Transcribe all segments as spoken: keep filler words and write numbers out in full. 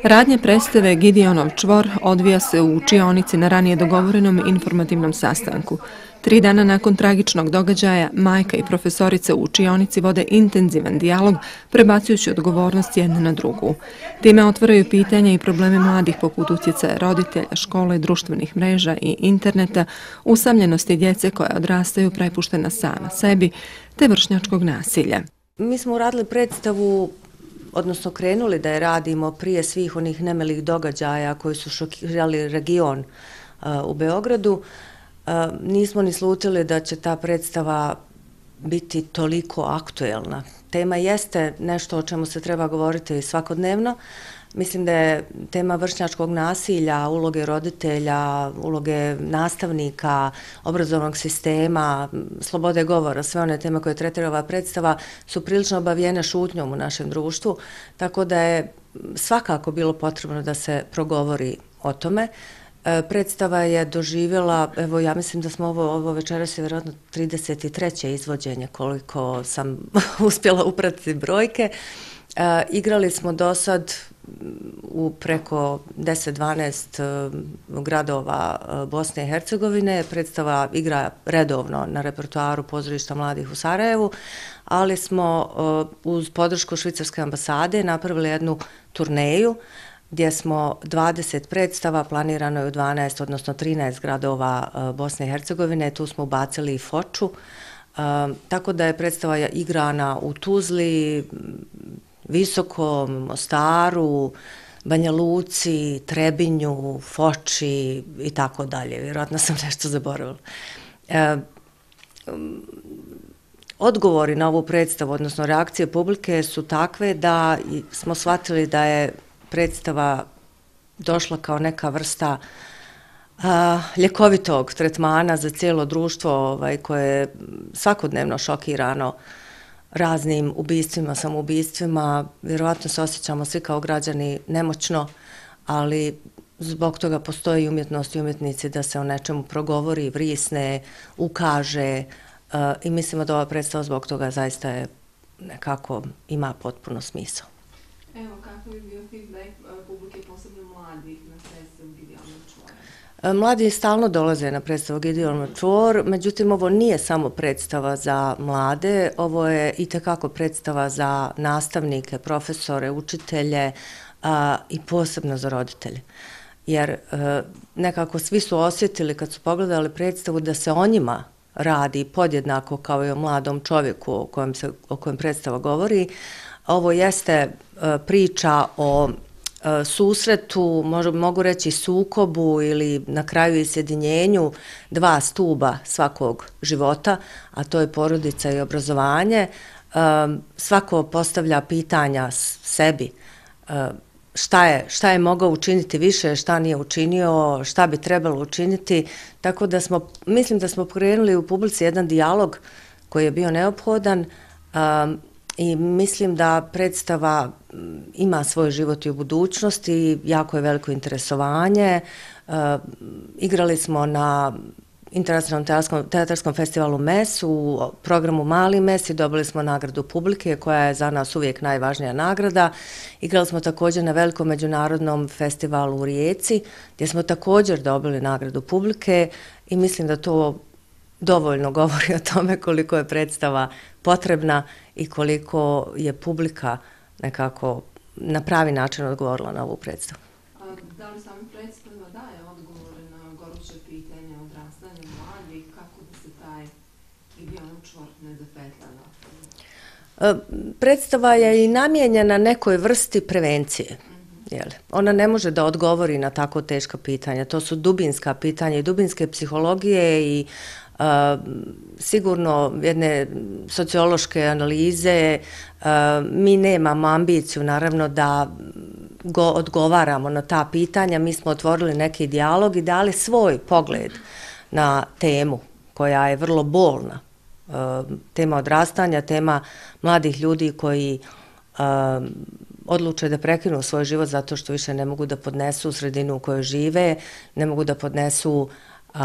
Radnje predstave Gideonov čvor odvija se u učionici na ranije dogovorenom informativnom sastanku. Tri dana nakon tragičnog događaja, majka i profesorica u učionici vode intenzivan dijalog, prebacujući odgovornost jedne na drugu. Time otvaraju pitanja i probleme mladih poput utjecaja roditelja, škole, društvenih mreža i interneta, usamljenosti djece koja odrastaju prepuštena sama sebi, te vršnjačkog nasilja. Mi smo uradili predstavu, odnosno krenuli da je radimo prije svih onih nemilih događaja koji su šokirali region uh, u Beogradu. Uh, nismo ni slutili da će ta predstava biti toliko aktuelna. Tema jeste nešto o čemu se treba govoriti svakodnevno. Mislim da je tema vršnjačkog nasilja, uloge roditelja, uloge nastavnika, obrazovnog sistema, slobode govora, sve one teme koje tretira ova predstava su prilično obavijene šutnjom u našem društvu, tako da je svakako bilo potrebno da se progovori o tome. Predstava je doživjela, evo ja mislim da smo ovo, ovo večeras je vjerojatno trideset treće izvođenje koliko sam uspjela upratiti brojke. E, igrali smo do sad u preko deset dvanaest gradova Bosne i Hercegovine. Predstava igra redovno na repertoaru Pozorišta mladih u Sarajevu, ali smo uz podršku Švicarske ambasade napravili jednu turneju gdje smo dvadeset predstava, planirano je u dvanaest, odnosno trinaest gradova Bosne i Hercegovine, tu smo ubacili i Foču, tako da je predstava igrana u Tuzli, Visokom, Mostaru, Banja Luci, Trebinju, Foči i tako dalje. Vjerojatno sam nešto zaboravila. E, odgovori na ovu predstavu, odnosno reakcije publike su takve da smo shvatili da je predstava došla kao neka vrsta a, ljekovitog tretmana za cijelo društvo ovaj, koje je svakodnevno šokirano raznim ubistvima, samoubistvima. Vjerovatno se osjećamo svi kao građani nemoćno, ali zbog toga postoji umjetnost i umjetnici da se o nečemu progovori, vrisne, ukaže uh, i mislimo da ova predstava zbog toga zaista je nekako ima potpuno smisao. Evo, kako je bio feedback publike, posebno mladih, na predstavu Gideonov čvor? Mladi stalno dolaze na predstavu Gideonov čvor, međutim ovo nije samo predstava za mlade, ovo je itekako predstava za nastavnike, profesore, učitelje a, i posebno za roditelje. Jer a, nekako svi su osjetili kad su pogledali predstavu da se o njima radi podjednako kao i o mladom čovjeku o kojem, se, o kojem predstava govori. Ovo jeste a, priča o susretu, mogu reći sukobu ili na kraju i sjedinjenju dva stuba svakog života, a to je porodica i obrazovanje. Svako postavlja pitanja sebi šta je, šta je mogao učiniti više, šta nije učinio, šta bi trebalo učiniti, tako da smo, mislim da smo pokrenuli u publici jedan dijalog koji je bio neophodan i mislim da predstava ima svoj život i u budućnosti, jako je veliko interesovanje. E, igrali smo na Internacionalnom teatarskom, teatarskom festivalu M E S, u programu Mali M E S i dobili smo nagradu publike koja je za nas uvijek najvažnija nagrada. Igrali smo također na velikom međunarodnom festivalu u Rijeci gdje smo također dobili nagradu publike i mislim da to dovoljno govori o tome koliko je predstava potrebna i koliko je publika nekako na pravi način odgovorila na ovu predstavu. A da li sama predstava daje odgovore na goruće pitanje odrastanja mladih, kako da se taj Gideonov čvor ne zapetlja? Predstava je i namijenjena nekoj vrsti prevencije. Jel? Ona ne može da odgovori na tako teška pitanja. To su dubinska pitanja i dubinske psihologije i Uh, sigurno jedne sociološke analize. Uh, mi nemamo ambiciju naravno da go odgovaramo na ta pitanja. Mi smo otvorili neki dijalog i dali svoj pogled na temu koja je vrlo bolna. Uh, tema odrastanja, tema mladih ljudi koji uh, odluče da prekinu svoj život zato što više ne mogu da podnesu sredinu u kojoj žive, ne mogu da podnesu uh,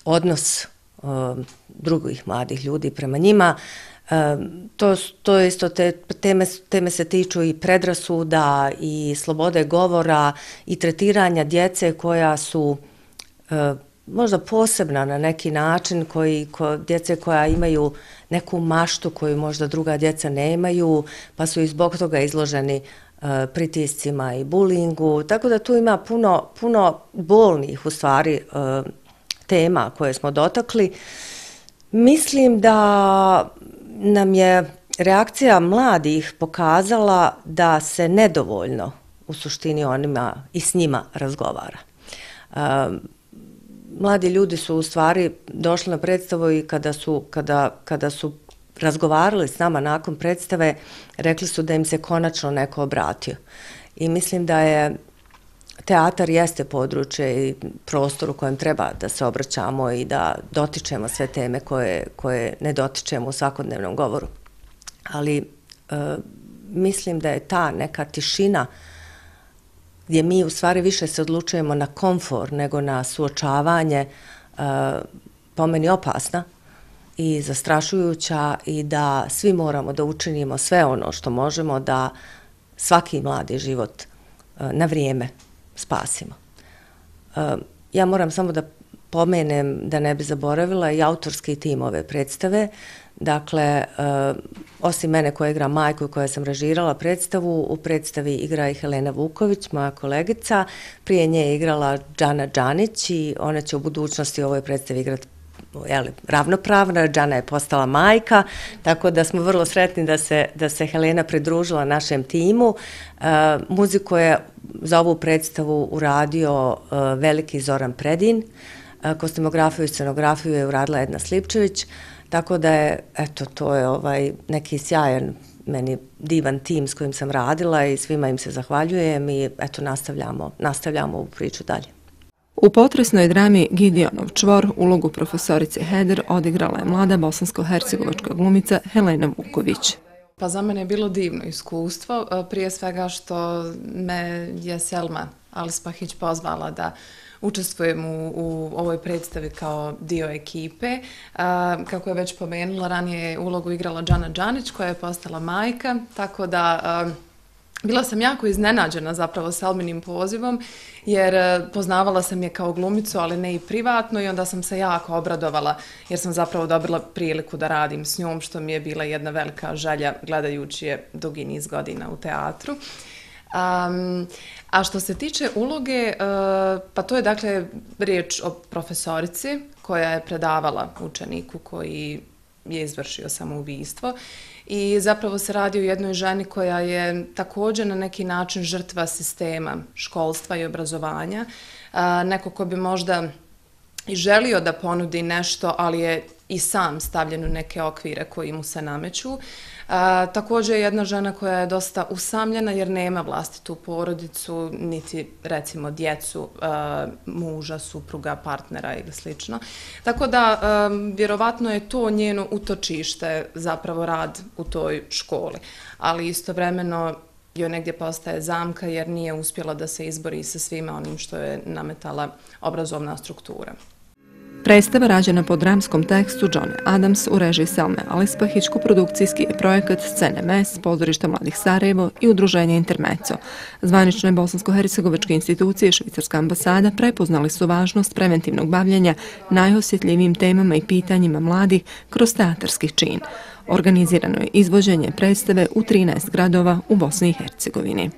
odnos drugih mladih ljudi prema njima. To, to je isto, te teme, teme se tiču i predrasuda i slobode govora i tretiranja djece koja su možda posebna na neki način, koji, ko, djece koja imaju neku maštu koju možda druga djeca nemaju, pa su i zbog toga izloženi uh, pritiscima i bulingu, tako da tu ima puno, puno bolnih u stvari uh, tema koje smo dotakli. Mislim da nam je reakcija mladih pokazala da se nedovoljno u suštini onima i s njima razgovara. Uh, Mladi ljudi su u stvari došli na predstavu i kada su, kada, kada su razgovarali s nama nakon predstave, rekli su da im se konačno neko obratio. I mislim da je teatar jeste područje i prostor u kojem treba da se obraćamo i da dotičemo sve teme koje, koje ne dotičemo u svakodnevnom govoru. Ali e, mislim da je ta neka tišina gdje mi u stvari više se odlučujemo na komfor nego na suočavanje, po meni opasna i zastrašujuća i da svi moramo da učinimo sve ono što možemo da svaki mladi život na vrijeme spasimo. Ja moram samo da pomenem, da ne bi zaboravila, i autorski tim ove predstave. Dakle, osim mene koja igra majku i koja sam režirala predstavu, u predstavi igra i Helena Vuković, moja kolegica. Prije nje je igrala Džana Džanić i ona će u budućnosti u ovoj predstavi igrati jeli, ravnopravno. Džana je postala majka, tako da smo vrlo sretni da se, da se Helena pridružila našem timu. E, muziku je za ovu predstavu uradio e, veliki Zoran Predin, e, kostimografiju i scenografiju je uradila Edna Slipčević. Tako da je, eto, to je ovaj neki sjajan, meni divan tim s kojim sam radila i svima im se zahvaljujem i eto, nastavljamo, nastavljamo ovu priču dalje. U potresnoj drami Gideonov čvor ulogu profesorice Heder odigrala je mlada bosansko-hercegovačka glumica Helena Vuković. Pa za mene je bilo divno iskustvo, prije svega što me je Selma Alispahić pozvala da učestvujem u, u ovoj predstavi kao dio ekipe. A, kako je već pomenula, ranije je ulogu igrala Džana Džanić koja je postala majka, tako da a, bila sam jako iznenađena zapravo Selminim pozivom jer a, poznavala sam je kao glumicu, ali ne i privatno i onda sam se jako obradovala jer sam zapravo dobila priliku da radim s njom, što mi je bila jedna velika želja gledajući je dugi niz godina u teatru. Um, a što se tiče uloge, uh, pa to je dakle riječ o profesorici koja je predavala učeniku koji je izvršio samoubistvo i zapravo se radi o jednoj ženi koja je također na neki način žrtva sistema školstva i obrazovanja, uh, neko ko bi možda i želio da ponudi nešto, ali je i sam stavljen u neke okvire koji mu se nameću. A, također je jedna žena koja je dosta usamljena jer nema vlastitu porodicu, niti recimo djecu, a, muža, supruga, partnera ili slično. Tako da a, vjerovatno je to njeno utočište, zapravo rad u toj školi. Ali istovremeno joj negdje postaje zamka jer nije uspjela da se izbori sa svima onim što je nametala obrazovna struktura. Predstava rađena po dramskom tekstu Johna Adams u režiji Selme Alispahić, koprodukcijski je projekat Scene Mes, Pozorišta mladih Sarajevo i Udruženje Intermezzo. Zvanične bosansko-hercegovačke institucije i Švicarska ambasada prepoznali su važnost preventivnog bavljenja najosjetljivijim temama i pitanjima mladih kroz teatarski čin. Organizirano je izvođenje predstave u trinaest gradova u Bosni i Hercegovini.